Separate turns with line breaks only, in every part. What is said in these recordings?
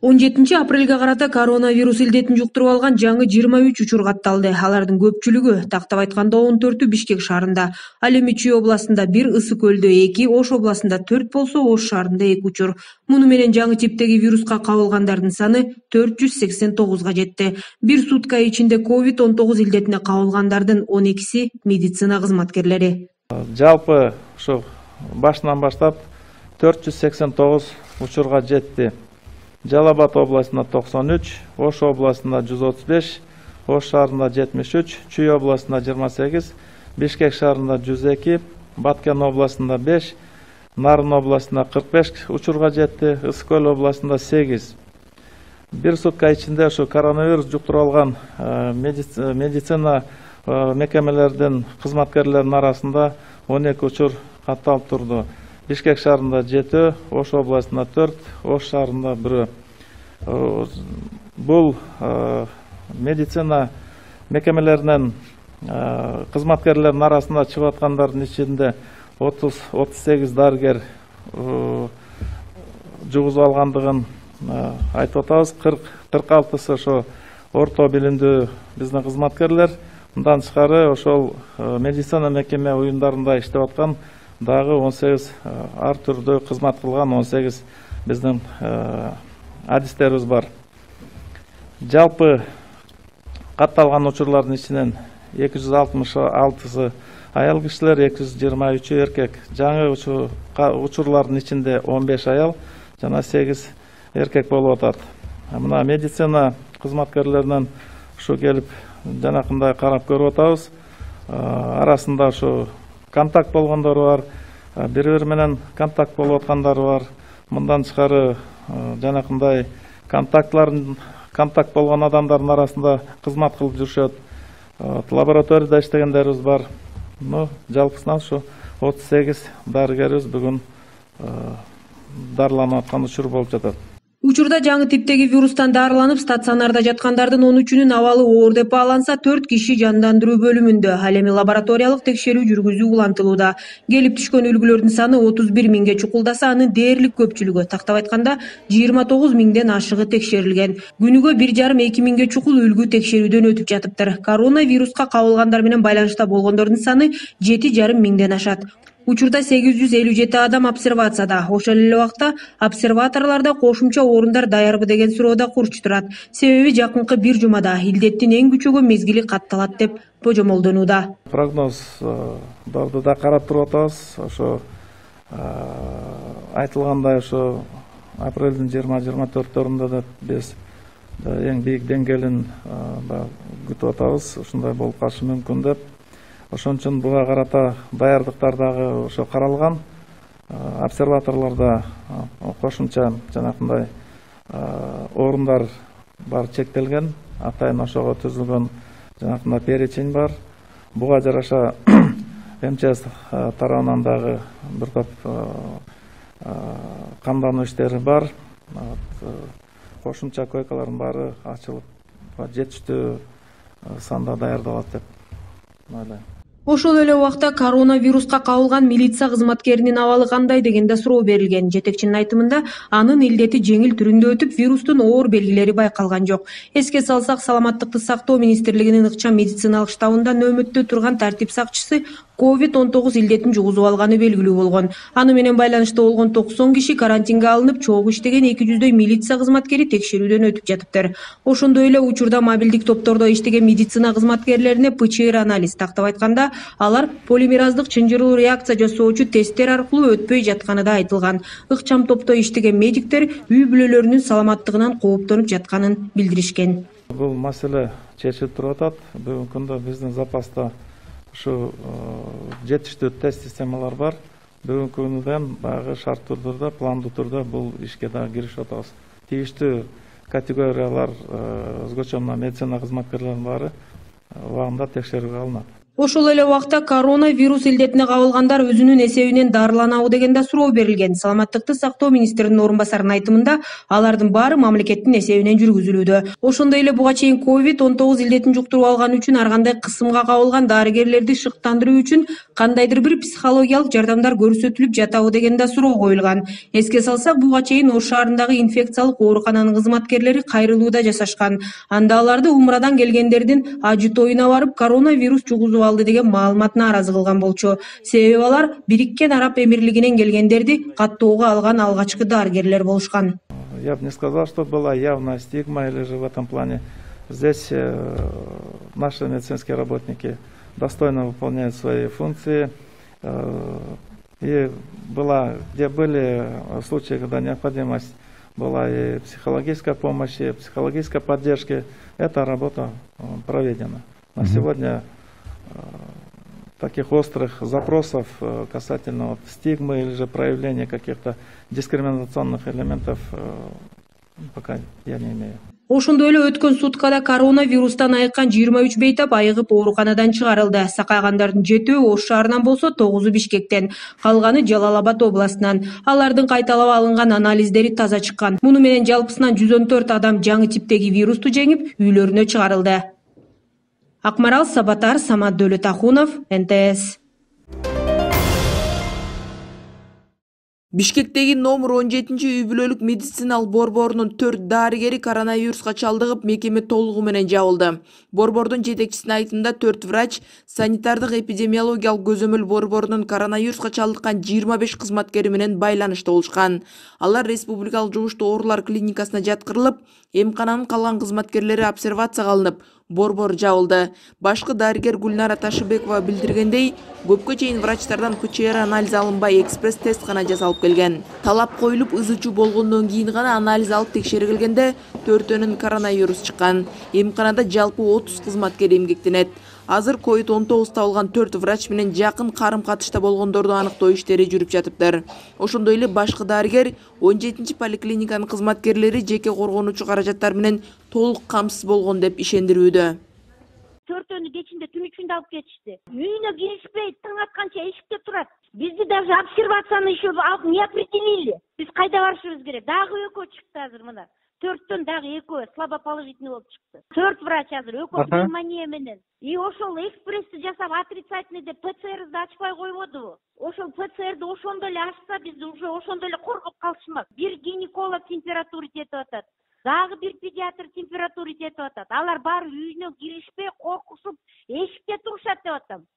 17 апрелге карата коронавирус илдетин жуктуруп алган жаңы 23 учур катталды. Алардын көпчүлүгү, тактап айтканда 14-ү Бишкек шаарында, ал эми Чүй областында 1, Ысык көлдө 2, Ош областында 4 болсо, Ош шаарында 2 учур. Муну менен жаңы типтеги вируска кабылгандардын саны 489га жетти. Бир сутка ичинде COVID-19 илдетине кабылгандардын 12си медицина кызматкерлери.
Жалпы ушу башынан баштап 489 учурга жетти. Жалал Абад областында 93, Ош областында 135, Ош шаарында 73, Чүй областында 28, Бишкек шаарында 102, Баткен областында 5, Нарын областында 45 учурга жетти, Ысык көл областында 8. Бир сутка ичинде ушу коронавирус жуктуруп алган медицина мекемелердин кызматкерлеринин арасында 12 учур катталып турду. Бишкек шаарында 7, Ош областында 4, Ош шаарында 1. Бул медицина мекемелеринен кызматкерлеринин арасында чыгып аткандардын ичинде 38 дарыгер жугузуп алгандыгын айтып атабыз. 46сы ошо орто билимдүү биздин кызматкерлер. Мындан тышкары ошол медицина мекеме уюмдарында иштеп аткан дагы 18 ар түрдө кызмат кылган 18 биздин адистерибиз бар. Жалпы катталган учурлардын ичинен 266сы аял кишилер, 223 эркек. Жаңы учурлардын ичинде 15 аял жана 8 эркек болуп атат. Мына медицина кызматкерлеринен ушу келип жанакындай карап көрүп атабыз. Арасында ушу контакт болгондор бар, бири-бири менен контакт болуп аткандар бар. Мындан тышкары жанакындай контакт болгон адамдардын арасында кызмат кылып жүрүшөт. Лабораторияда иштегендерибиз бар. Жалпысынан ушу 38 дарыгерибиз бүгүн дарыланып аткан учур болуп жатат.
Учурда жаңы типтеги вирустан дарыланып стационарда жаткандардын 13-үнүн абалы оор деп бааланса, 4 киши жандандыруу бөлүмүндө. Ал эми лабораториялык текшерүү жүргүзүү улантылууда. Келип түшкөн үлгүлөрдүн саны 31 миңге чукулдаса, анын дээрлик көпчүлүгү, тактап айтканда 29 миңден ашыгы текшерилген. Күнүгө 1,5–2 миңге чукул үлгү текшерүүдөн өтүп жатыптыр. Коронавируска кабылгандар менен байланышта болгондордун саны 7,5 миңден ашат. Учурда 857 адам обсервацияда. Ошол эле убакта обсерваторлордо кошумча орундар даярбы деген суроо да курч турат. Себеби жакынкы бир жумада илдеттин эң күчөгөн мезгили катталат деп божомолдонууда.
Прогноздорду да карап туруп атабыз. Ошо айтылгандай ошо апрелдин 20-24-төрүндө да биз эң бийик деңгээлин күтүп атабыз. Ушундай болуп калышы мүмкүн деп. Ошон үчүн буга карата даярдыктар дагы ошо каралган. Обсерваторлордо кошумча жанакындай орундар бар чектелген. Атайын ошого түзүлгөн жанакындай перечень бар. Буга жараша МЧС тарабынан дагы бир топ камдануу иштери бар. Кошумча койкалардын баары ачылып, жетиштүү санда даярдалат деп ойлойм.
Ошол эле убакта коронавируска кабылган милиция кызматкеринин абалы кандай деген да суроо берилген. Жетекчинин айтымында, анын илдети жеңил түрүндө өтүп, вирустун оор белгилери байкалган жок. Эске салсак, Саламаттыкты сактоо министрлигинин ыкчам медициналык штабында нөөмөттө турган тартип сакчысы COVID-19 илдетин жугузуп алганы белгилүү болгон. Аны менен байланышта болгон 90 киши карантинге алынып, чогуу иштеген 200дөй милиция кызматкери текшерүүдөн өтүп жатыптыр. Ошондой эле учурда мобилдик топтордо иштеген медицина кызматкерлерине ПЧР анализ, тактап айтканда, алар полимераздык чынжыруу реакция жасоочу тесттер аркылуу өтпөй жатканы да айтылган. Ыкчам топто иштеген медиктер үй бүлөлөрүнүн саламаттыгынан кооптонуп жатканын билдиришкен.
Бул маселе чечилип туруп атат. Бүгүнкү күндө биздин запаста ушу жетиштүү тест системалар бар. Бүгүнкү күндөн баягы шарттуу түрдө, пландуу түрдө бул ишке да киришип атабыз. Тийиштүү категориялар өзгөчө медицина кызматкерлеринин баары убагында текшерүүгө алынат.
Ошол эле убакта коронавирус илдетине кабылгандар өзүнүн эсебинен дарыланабы деген да суроо берилген. Саламаттыкты сактоо министринин орун басарынын айтымында, алардын баары мамлекеттин эсебинен жүргүзүлүүдө. Ошондой эле буга чейин COVID-19 илдетин жуктуруп алган үчүн ар кандай кысымга кабылган дарыгерлерди шыктандыруу үчүн кандайдыр бир психологиялык жардамдар көрсөтүлүп жатабы деген да суроо коюлган. Эске салсак, буга чейин Ош шаарындагы инфекциялык оорукананын кызматкерлери кайрылууда жашашкан. Анда аларды умрадан келгендердин ажы тоюна барып коронавирус жугузуп алды деген маалымат нааразы кылган болчу. Себеби алар Бириккен Араб Эмирлигинен келгендерди каттоого алган алгачкы дарыгерлер болушкан.
Я бы не сказал, что была явная стигма или же в этом плане. Здесь наши медицинские работники достойно выполняют свои функции. И где были случаи, когда необходимость была и психологической помощи, и психологической поддержки, эта работа проведена. На сегодня таких острых запросов касательно стигмы или же проявления каких-то дискриминационных элементов пока я не имею.
Ошондой эле өткөн суткада коронавирустан айыккан 23 бейтап айыгып ооруканадан чыгарылды. Сакайгандардын 7-өө Ош шаарынан болсо 9-у Бишкектен, калганы Жалал-Абад областынан. Алардын кайталап алынган анализдери таза чыккан. Муну менен жалпысынан 114 адам жаңы типтеги вирусту жеңип, үйлөрүнө чыгарылды. Акмарал Сабатар, Самат Дөөлөтахунов, НТС.
Бишкектеги номер 17-үй бүлөлүк медициналык борборунун 4 дарыгери коронавируска чалдыгып, мекеме толугу менен жабылды. Борбордун жетекчисинин айтымында 4 врач, санитардык эпидемиологиялык көзөмөл борборунун коронавируска чалдыккан 25 кызматкери менен байланышта болушкан. Алар республикалык жугуштуу оорулар клиникасына жаткырылып, эмкананын калган кызматкерлери обсервацияга алынып, борбор жабылды. Башкы дарыгер Гүлнара Ташыбекова билдиргендей, көпкө чейин врачтардан ПЧР анализ алынбай экспресс-тест гана жасалып келген. Талап коюлуп, ызычуу болгондон кийин гана анализ алып текшергилгенде 4-өнүн коронавирус чыккан. Эмканада жалпы 30 кызматкер эмгектенет. Азыр COVID-19 табылган 4 врач менен жакын карым-катышта болгондорду аныктоо иштери жүрүп жатыптыр. Ошондой эле башкы дарыгер 17-чи поликлиниканын кызматкерлери жеке коргонуучу каражаттар менен толук камсыз болгон деп ишендирүүдө.
4-өнү кечинде түн үчүндө алып кетишти. Үйүнө киришпей, таң атканча эшикте турат. Бизди даже обсервацияны еще не определили. Биз кайда барышыбыз керек? Дагы экөө чыкты азыр мына. 4-төн дагы экөө слабо положительный болуп чыкты. 4 врач азыр экөө пневмония менен. И ошол экспрессти жасап отрицательный деп ПЦР'ди ачпай койбодубу? Ошол ПЦР'ди ошондой эле ачса, биз уже ошондой эле коркуп калышмак. Бир гинеколог температура жетип атат. Дагы бир педиатр температура жетип атат. Алар баары үйүнө киришпей, коркушуп, эшикте турушат деп атам.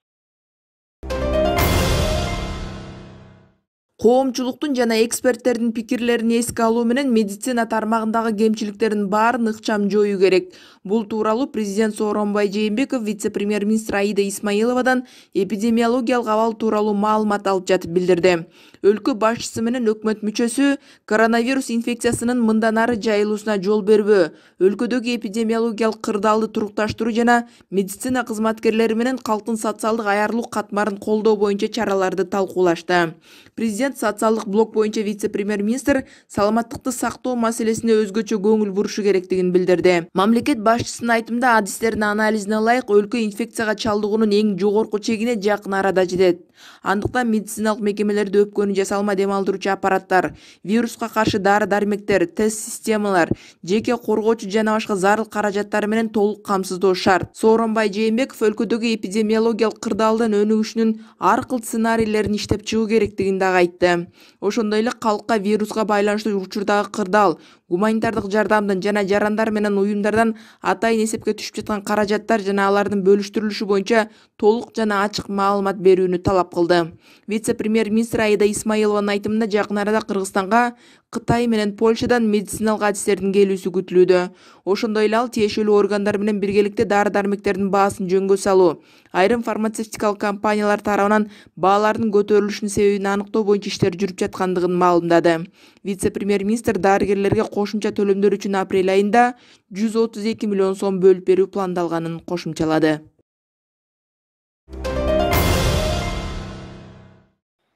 Коомчулуктун жана эксперттердин пикирлерин эске алуу менен медицина тармагындагы кемчиликтердин баарын ыкчам жоюу керек. Бул тууралуу президент Сооронбай Жээнбеков вице-премьер-министр Аида Исмаиловадан эпидемиологиялык абал тууралуу маалымат алып жатып билдирди. Өлкө башчысы менен өкмөт мүчөсү коронавирус инфекциясынын мындан ары жайылуусуна жол бербөө, өлкөдөгү эпидемиологиялык кырдаалды турукташтыруу жана медицина кызматкерлери менен калктын социалдык аярлык катмарын колдоо боюнча чараларды талкуулашты. Президент социалдык блок боюнча вице-премьер-министр саламаттыкты сактоо маселесине өзгөчө көңүл бурушу керектигин билдирди. Мамлекет башчысынын айтымында адистердин анализине ылайык өлкө инфекцияга чалдыгуунун эң жогорку чегине жакын арада жетет. Андыктан медициналык мекемелерде өпкөнү жасалма дем алдыруучу аппараттар, вируска каршы дары-дармектер, тест системалар, жеке коргоочу жана башка зарыл каражаттар менен толук камсыздоо шарт. Сооронбай Жээнбеков өлкөдөгү эпидемиологиялык кырдаалдын өнүгүшүнүн ар кыл сценарийлерин иштеп чыгуу керектигин дагы айтты. Ошондой эле калкка вируска байланыштуу учурдагы кырдаал, гуманитардык жардамдын жана жарандар менен уюмдардан атайын эсепке түшүп жаткан каражаттар жана алардын бөлүштүрүлүшү боюнча толук жана ачык маалымат берүүнү талап кылды. Вице-премьер-министр Аида Исмаилованын айтымында жакын арада Кыргызстанга, Кытай менен Польшадан медициналык адистердин келүүсү күтүлүүдө. Ошондой эле ал тиешелүү органдар менен биргеликте дары-дармектердин баасын жөнгө салуу, айрым фармацевтикалык компаниялар тарабынан баалардын көтөрүлүшүнүн себебин аныктоо боюнча иштер жүрүп жаткандыгын маалымдады. Вице-премьер-министр дарыгерлерге кошумча төлөмдөр үчүн апрель айында 132 миллион сом бөлүп берүү пландалганын кошумчалады.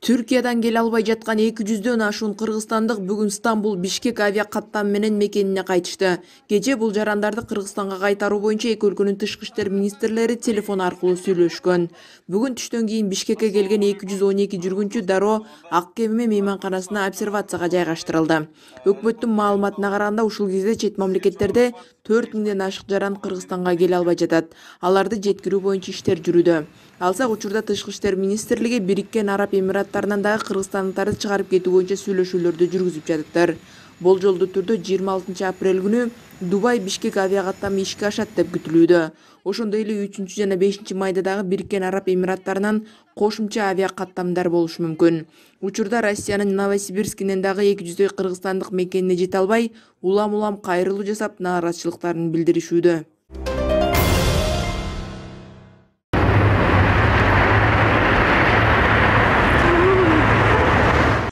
Түркиядан келе албай жаткан 200дөн ашуун кыргызстандык бүгүн Стамбул Бишкек авиа каттам менен мекенине кайтышты. Кечээ бул жарандарды Кыргызстанга кайтаруу боюнча эки өлкөнүн тышкы иштер министрлери телефон аркылуу сүйлөшкөн. Бүгүн түштөн кийин Бишкекке келген 212 жүргүнчү дароо ак кеме мейманканасына обсервацияга жайгаштырылды. Өкмөттүн маалыматына караганда ушул кезде чет мамлекеттерде 4000ден ашык жаран Кыргызстанга келе албай жатат. Аларды жеткирүү боюнча иштер жүрүүдө. Алсак учурда тышкы иштер министрлиги Бириккен Араб Эмираттарынан дагы кыргызстандыктарды чыгарып кетүү боюнча сүйлөшүүлөрдү жүргүзүп жатыптыр. Болжолдуу түрдө 26 апрель күнү Дубай Бишкек авиа каттамы ишке ашат деп күтүлүүдө. Ошондой эле 3 жана 5 майда дагы Бириккен Араб Эмираттарынан кошумча авиа каттамдар болушу мүмкүн. Учурда Россиянын Новосибирскинен дагы 200 кыргызстандык мекенине жете албай, улам кайрылуу жасап, нааразычылыктарын билдиришүүдө.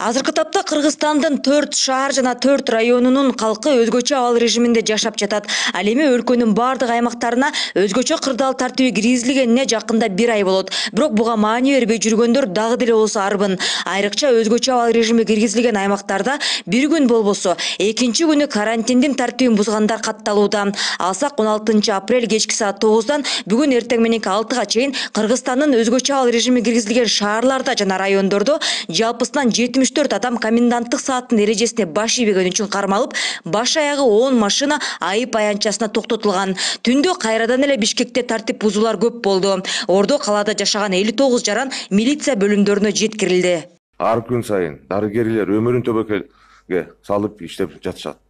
Азыркы тапта Кыргызстандын 4 шаар жана 4 районунун калкы өзгөчө абал режиминде жашап жатат. Ал эми өлкөнүн бардык аймактарына өзгөчө кырдаал тартиби киргизилгенине жакында 1 ай болот. Бирок буга маани бербей жүргөндөр дагы деле болсо арбын. Айрыкча өзгөчө абал режими киргизилген аймактарда бир күн болбосо, экинчи күнү карантиндин тартибин бузгандар катталууда. Алсак 16 апрель кечки саат 9-дан бүгүн эртең мененки 6-га чейин Кыргызстандын өзгөчө абал режими киргизилген шаарларда жана райондордо жалпысынан 74 адам коменданттык сааттын эрежесине баш ийбегени үчүн кармалып, баш аягы 10 машина айып аянтчасына токтотулган. Түндө кайрадан эле Бишкекте тартип бузуулар көп болду. Ордо калаада жашаган 59 жаран милиция бөлүмдөрүнө жеткирилди.
Ар күн сайын дарыгерлер өмүрүн төбөккө салып иштеп жатышат.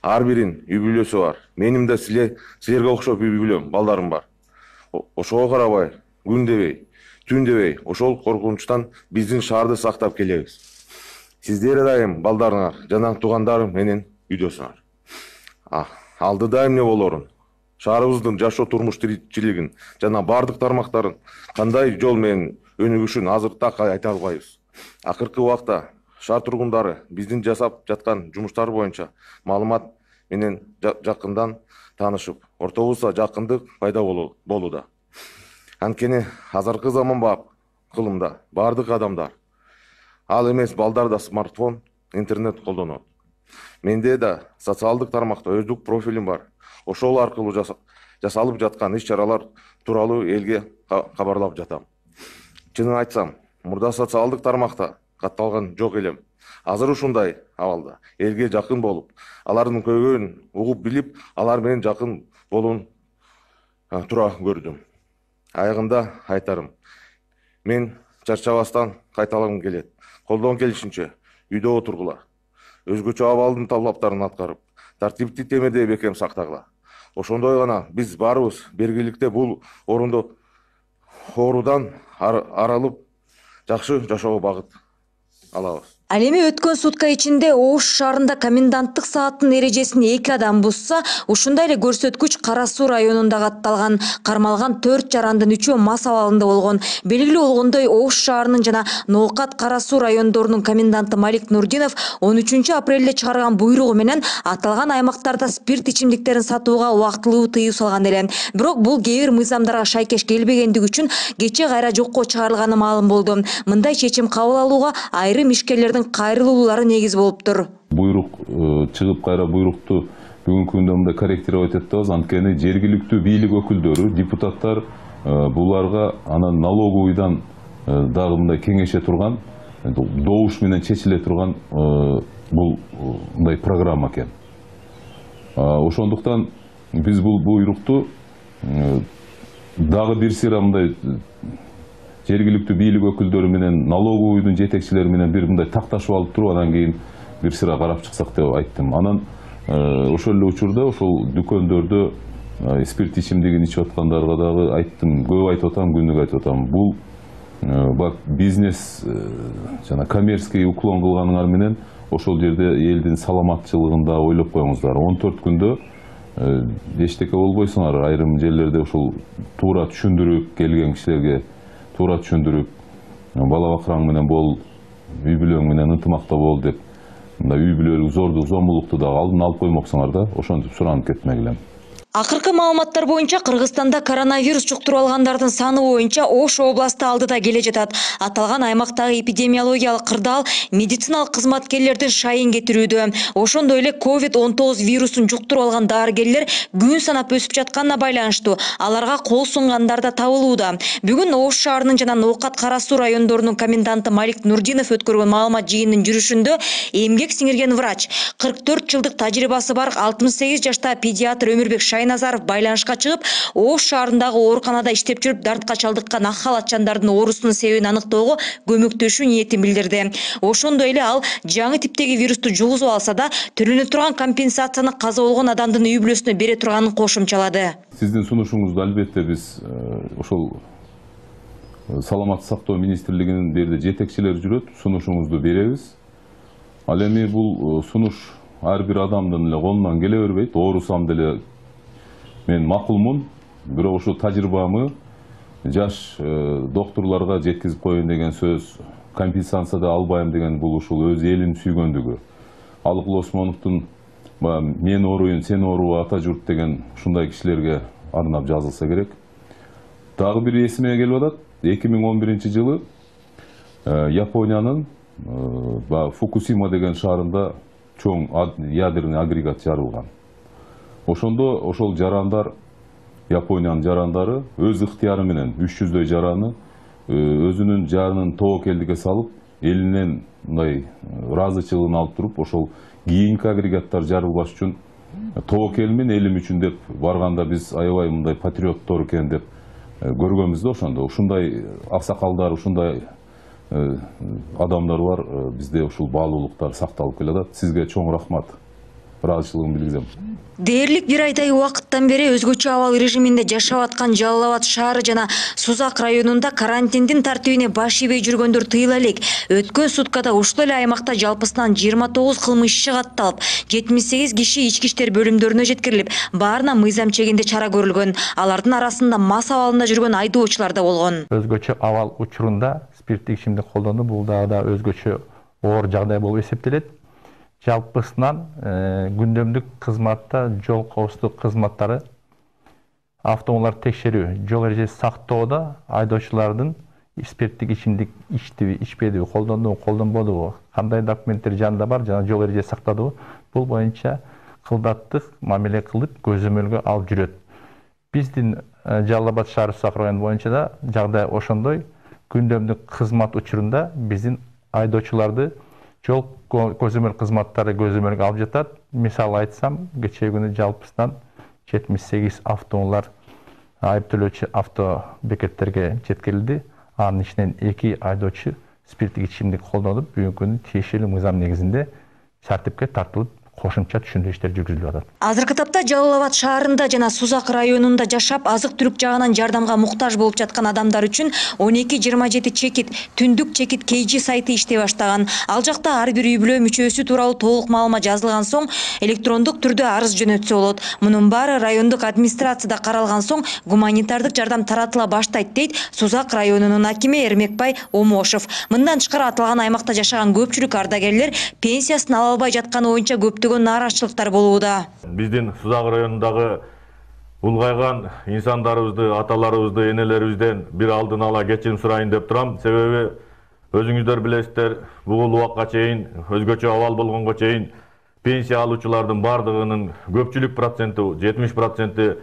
Ар биринин үй бүлөсү бар. Менин да силерге окшоп үй бүлөм, балдарым бар. Ошого карабай, күн дебей, түн дебей, ошол коркунучтан биздин шаарды сактап келебиз. Сиздер дайым балдарыңар, жана туугандарым менен үйдөсүңөр. Алдыда эмне болорун, шаарыбыздын жашоо турмуш тиричилигин жана бардык тармактарын кандай жол менен өнүгүшүн азыр так айта албайбыз. Акыркы убакта шаар тургундары биздин жасап жаткан жумуштар боюнча маалымат менен жакындан таанышып, ортобузда жакындык пайда болууда. Анткени азыркы заманбап кылымда бардык адамдар, ал эмес балдарда смартфон, интернет колдонот. Менде да социалдык тармакта өздүк профилим бар. Ошол аркылуу жасалып жаткан иш-чаралар тууралуу элге кабарлап жатам. Чынын айтсам, мурда социалдык тармакта катталган жок элем. Азыр ушундай абалда элге жакын болуп, алардын көйгөйүн угуп билип, алар менен жакын болуун тура көрдүм. Аягында айтарым, мен чарчабастан кайталагым келет. Колдон келишинче үйдө отургула. Өзгөчө абалдын талаптарын аткарып, тартипти темеде бекем сактагыла. Ошондой гана биз баарыбыз бергиликте бул оорудан арылып, жакшы жашоого багыт алабыз.
Ал эми өткөн сутка ичинде Ош шаарында коменданттык сааттын эрежесин 2 адам бузса, ушундай эле көрсөткүч Кара Суу районунда катталган. Кармалган 4 жарандын 3-өө мас абалында болгон. Белгилүү болгондой, Ош шаарынын жана Ноокат Кара Суу райондорунун коменданты Малик Нурдинов 13 апрелде чыгарган буйругу менен аталган аймактарда спирт ичимдиктерин сатууга убактылуу тыюу салган эле. Бирок бул кээ бир мыйзамдарга шайкеш келбегендиги үчүн кече кайра жокко чыгарылганы маалым болду. Мындай чечим кабыл алууга айрым ишкерлердин кайрылуулары негиз болуптур.
Буйрук чыгып кайра буйрукту бүгүнкү күндө мындай корректировать этебиз. Анткени жергиликтүү бийлик өкүлдөрү, депутаттар буларга анан налоговыйдан дагы мындай кеңеше турган, добуш менен чечиле турган бул мындай программа экен. Ошондуктан биз бул буйрукту дагы бир сыйра мындай жергиликтүү бийлик өкүлдөрү менен налоговыйдын жетекчилери менен бир мындай такташып алып туруп, анан кийин бир сыра карап чыксак деп айттым. Анан ошол эле учурда ошол дүкөндөрдө спирт ичимдигин ичип аткандарга дагы айттым, көп айтып атам, күнүгө айтып атам. Бул бизнес жана коммерческий уклон кылганыңар менен ошол жерде элдин саламатчылыгын да ойлоп коюңуздар. 14 күндө эчтеке болбойсуңар. Айрым жерлерде ошол туура түшүндүрүп келген кишилерге туура түшүндүрүп, бала бакыраң менен бол, үй бүлөң менен ынтымакта бол деп, үй бүлөлүк зордук, зомбулукту дагы алдын алып коймоксуңар да, ошентип суранып кетмегиле.
Акыркы маалыматтар боюнча Кыргызстанда коронавирус жуктуруп алгандардын саны боюнча Ош областы алдыда келе жатат. Аталган аймактагы эпидемиологиялык кырдаал медициналык кызматкерлердин шайын кетирүүдө. Ошондой эле COVID-19 вирусун жуктуруп алган дарыгерлер күн санап өсүп жатканына байланыштуу аларга кол сунгандар да табылууда. Бүгүн Ош шаарынын жана Ноокат Кара Суу райондорунун коменданты Малик Нурдинов өткөргөн маалымат жыйынынын жүрүшүндө эмгек сиңирген врач, 44 жылдык тажрыйбасы бар 68 жаштагы педиатр Өмүрбек Шайназаров байланышка чыгып, Ош шаарындагы ооруканада иштеп жүрүп дартка чалдыккан ак халатчандардын оорусунун себебин аныктоого көмөктөшүү ниетин билдирди. Ошондой эле ал жаңы типтеги вирусту жугузуп алса да, төлөнө турган компенсацияны каза болгон адамдын үй бүлөсүнө бере турганын кошумчалады.
Сиздин сунушуңузду албетте биз ошол Саламаттык сактоо министрлигинин берде жетекчилери жүрөт, сунушуңузду беребиз. Ал эми бул сунуш ар бир адамдын эле колунан келе бербейт. Оорусам деле мен макулмун, бирок ошо тажрыйбамы жаш доктурларга жеткизип коеюн деген сөз, компенсация да албайм деген бул ушул өз элин сүйгөндүгү. Алыкул Осмоновдун мен ооруйун, сен ооруба ата журт деген ушундай кишилерге арнап жазылса керек. Дагы бир эсиме келип атат. 2011-жылы Япониянын Фукусима деген шаарында чоң ядерный агрегат жарылган. Ошондо ошол жарандар, Япониянын жарандары өз ыктыяры менен 300дөй жараны өзүнүн жанын тобокелдикке салып, элинен мындай ыраазычылыгын алып туруп, ошол кийинки агрегаттар жарылбаш үчүн тобокелимин элим үчүн деп барганда биз аябай мындай патриоттор экен деп көргөнбүз да ошондо. Ушундай аксакалдар, ушундай адамдар бар, бизде ушул баалуулуктар сакталып келатат. Сизге чоң рахмат. Ыраазычылыгымды билгизем.
Дээрлик бир айдай убакыттан бери өзгөчө абал режиминде жашап аткан Жалал Абад шаары жана Сузак районунда карантиндин тартибине баш ийбей жүргөндөр тыйыла элек. Өткөн суткада ушул эле аймакта жалпысынан 29 кылмыш иши катталып, 78 киши ички иштер бөлүмдөрүнө жеткирилип, баарына мыйзам чегинде чара көрүлгөн. Алардын арасында мас абалында жүргөн айдоочулар да болгон.
Өзгөчө абал учурунда спирттик ичимдик колдонуу бул да өзгөчө оор жагдай болуп эсептелет. Жалпысынан күндөмдүк кызматта жол коопсуздук кызматтары, автоунаалар текшерүү, жол эрежеси сактоодо айдоочулардын спирттик ичимдик ичтиби, ичпедиби, колдондубу, колдонбодубу, кандай документтер жанында бар жана жол эрежеси сактадыбы, бул боюнча кылдаттык мамиле кылып көзөмөлгө алып жүрөт. Биздин Жалал Абад шаары Сузак району боюнча да жагдай ошондой. Күндөмдүк кызмат учурунда биздин айдоочуларды жол көзөмөл кызматтары көзөмөлгө алып жатат. Мисалы айтсам, кечээ күнү жалпысынан 78 автоунаалар айыптөлөөчү авто бекеттерге жеткирилди. Анын ичинен 2 айдоочу спирттик ичимдик колдонуп, бүгүнкү күнү тиешелүү мыйзам негизинде тартипке тартылып, кошумча түшүндүрүү иштери жүргүзүлүп атат.
Азыркы тапта Жалал Абад шаарында жана Сузак районунда жашап, азык-түлүк жагынан жардамга муктаж болуп жаткан адамдар үчүн 1227 чекит, түндүк чекит KG сайты иштей баштаган. Ал жакта ар бир үй бүлө мүчөсү тууралуу толук маалымат жазылган соң, электрондук түрдө арыз жөнөтсө болот. Мунун баары райондук администрацияда каралган соң, гуманитардык жардам таратыла баштайт дейт Сузак районунун акими Эрмекбай Омошов. Мындан тышкары аталган аймакта жашаган көпчүлүк ардагерлер пенсиясын ала албай жатканы боюнча нааразычылыктар болууда.
Биздин Сузак районундагы улгайган инсандарыбызды, аталарыбызды, энелерибизден бир алдын ала кечирим сурайын деп турам. Себеби өзүңүздөр билесиздер, бул убакка чейин өзгөчө абал болгонго чейин пенсия алуучулардын бардыгынын көпчүлүк проценти, 70%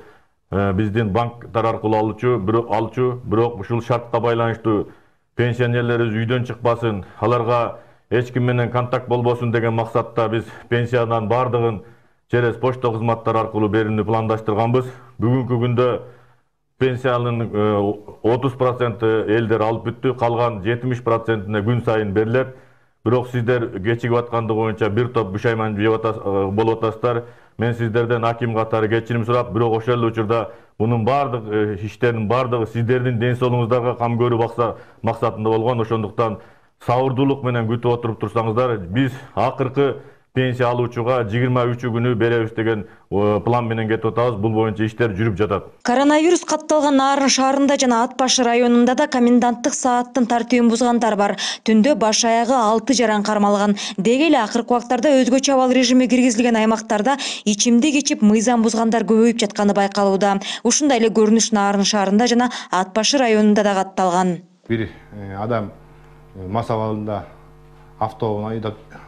биздин банктар аркылуу алуучу, бирок ушул шартка байланыштуу пенсионерлерибиз үйдөн чыкпасын, аларга эч ким менен контакт болбосун деген максатта биз пенсиядан бардыгын через почта кызматтары аркылуу берүүнү пландаштырганбыз. Бүгүнкү күндө пенсиянын 30% элдер алып бүттү, калган 70%-не күн сайын берилет. Бирок сиздер кечигип аткандыгы боюнча бир топ бушайман болуп атасыздар. Мен сиздерден аким катары кечирим сурап, бирок ошол эле учурда мунун бардык иштердин бардыгы сиздердин ден соолугуңуздарга кам көрүү максатында болгон. Ошондуктан сабырдуулук менен күтүп отуруп турсаңыздар, биз акыркы пенсия алуучуга 23 күнү беребиз деген план менен кетип атабыз. Бул боюнча иштер жүрүп жатат.
Коронавирус катталган Нарын шаарында жана Ат башы районунда да коменданттык сааттын тартибин бузгандар бар. Түндө баш аягы 6 жаран кармалган. Деги эле акыркы убактарда өзгөчө абал режими киргизилген аймактарда ичимдик ичип мыйзам бузгандар көбөйүп жатканы байкалууда. Ушундай эле көрүнүш Нарын шаарында жана Ат башы районунда да катталган.
Бир адам мас абалында автобус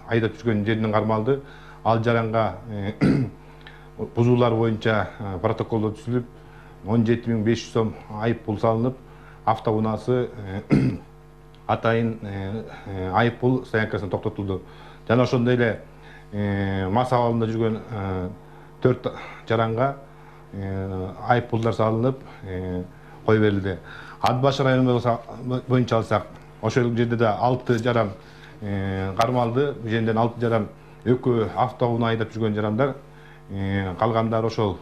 айдап жүргөн жеринен кармалды. Ал жаранга бузуулар боюнча протоколдо түзүлүп, 17.500 сом айып пул салынып, автоунаасы атайын айып пул стоянкасына токтотулду. Жана ошондой эле мас абалында жүргөн 4 жаранга айып пулдар салынып, кой берилди. Ат башы району боюнча алсак, ошол жерде да 6 жаран кармалды. Бул жерден 6 жаран экөө автоунаа айдап жүргөн жарандар, калгандары ошол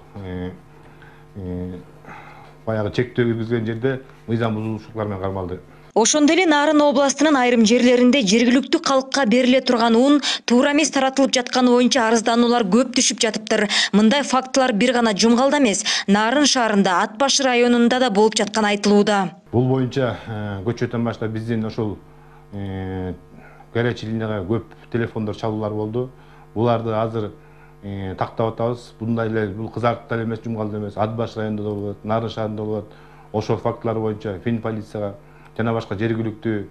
баягы чектөө киргизген жерде мыйзам бузуучулуктар менен кармалды.
Ошондой эле Нарын областынын айрым жерлеринде жергиликтүү калкка бериле турган ун туура эмес таратылып жатканы боюнча арыздануулар көп түшүп жатыптыр. Мындай фактылар бир гана Жумгалда эмес, Нарын шаарында, Ат башы районунда да болуп жатканы айтылууда.
Бул боюнча көчөтөн баштап биздин ошол горячий линияга көп телефондор чалуулар болду. Буларды азыр тактап атабыз. Bunday эле бул Кызартта эмес, Жумгалда эмес, Ат башы районунда да болот, Нарын шаарында болот. Ошол фактылар боюнча Фин полицияга жана башка жергиликтүү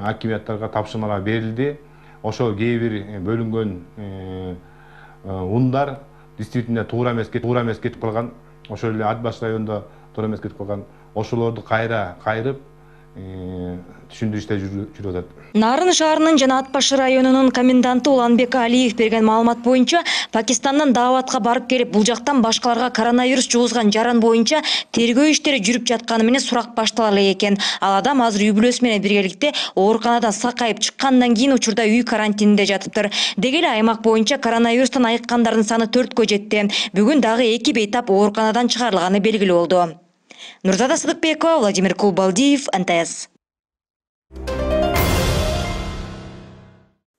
акимияттарга тапшырмалар берилди. Ошол кээ бир бөлүнгөн ундар действительно туура эмес кетип калган. Ошол эле Ат башы районунда туура эмес кетип калган. Ошолорду кайрып түшүндүрүү иштери жүрүп атат.
Нарын шаарынын жана Ат башы районунун коменданты Уланбек Алиев берген маалымат боюнча, Пакистандан дааватка барып келип, бул жактан башкаларга коронавирус жугузган жаран боюнча тергөө иштери жүрүп жатканы менен сурак баштала элек экен. Ал адам азыр үй бүлөсү менен биргеликте ооруканадан сакайып чыккандан кийин учурда үй карантининде жатыптыр. Деги эле аймак боюнча коронавирустан айыккандардын саны 4кө жетти. Бүгүн дагы 2 бейтап ооруканадан чыгарылганы белгилүү болду. Нурзада Сыдыкбекова, Владимир Кулбалдиев, НТС.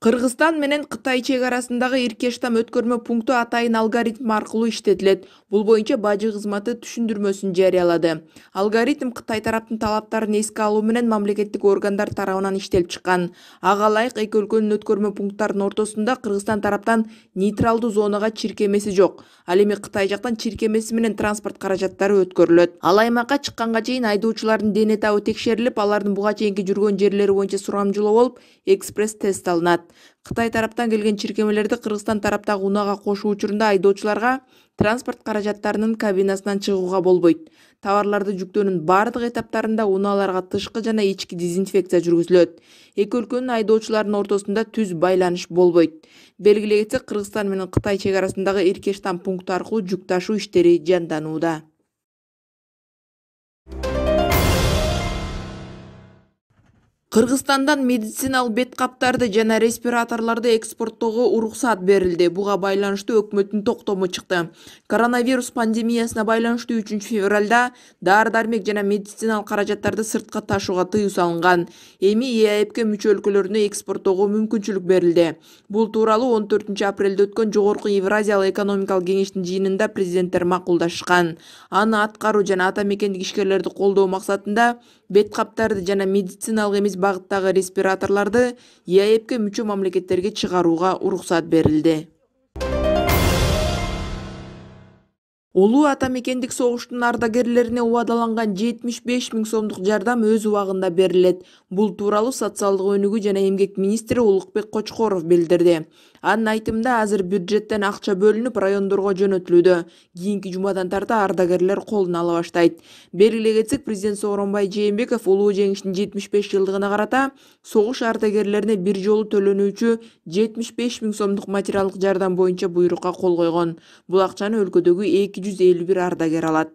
Кыргызстан менен Кытай чек арасындагы Иркештам өткөрмө пункту атайын алгоритм аркылуу иштетилет. Бул боюнча бажы кызматы түшүндүрмөсүн жарыялады. Алгоритм Кытай тараптын талаптарын эске алуу менен мамлекеттик органдар тарабынан иштелип чыккан. Ага ылайык эки өлкөнүн өткөрмө пункттарынын ортосунда Кыргызстан тараптан нейтралдуу зонага чиркемеси жок. Ал эми Кытай жактан чиркемеси менен транспорт каражаттары өткөрүлөт. Ал аймакка чыкканга чейин айдоочулардын дене табы текшерилип, алардын буга чейинки жүргөн жерлери боюнча сурамжылоо болуп, экспресс тест алынат. Кытай тараптан келген чиркемелерди Кыргызстан тараптагы унаага кошуу учурунда айдоочуларга транспорт каражаттарынын кабинасынан чыгууга болбойт. Товарларды жүктөөнүн бардык этаптарында унааларга тышкы жана ички дезинфекция жүргүзүлөт. Эки өлкөнүн айдоочуларынын ортосунда түз байланыш болбойт. Белгилей кетсек, Кыргызстан менен Кытай чек арасындагы Иркештам пункту аркылуу жүк ташуу иштери жанданууда. Кыргызстандан медициналык бет каптарды жана респираторлорду экспорттоого уруксат берилди. Буга байланыштуу өкмөттүн токтому чыкты. Коронавирус пандемиясына байланыштуу 3 февралда дары-дармек жана медициналык каражаттарды сыртка ташууга тыюу салынган. Эми ЕАЭПке мүчө өлкөлөрүнө экспорттоого мүмкүнчүлүк берилди. Бул тууралуу 14 апрелде өткөн Жогорку Евразиялык экономикалык кеңештин жыйынында президенттер макулдашкан. Аны аткаруу жана ата мекендик ишкерлерди колдоо максатында бет каптарды жана медициналык эмес багыттагы респираторлорду ЕАЭПке мүчө мамлекеттерге чыгарууга уруксат берилди. Улуу ата мекендик согуштун ардагерлерине убадаланган 75 000 сомдук жардам өз убагында берилет. Бул тууралуу социалдык өнүгүү жана эмгек министри Улукбек Кочкоров билдирди. Анын айтымында азыр бюджеттен акча бөлүнүп райондорго жөнөтүлүүдө. Кийинки жумадан тарта ардагерлер колуна ала баштайт. Белгилей кетсек, президент Сооронбай Жээнбеков улуу жеңиштин 75 жылдыгына карата согуш ардагерлерине бир жолу төлөнүүчү 75 000 сомдук материалдык жардам боюнча буйрукка кол койгон. Бул акчаны өлкөдөгү 251 ардагер алат.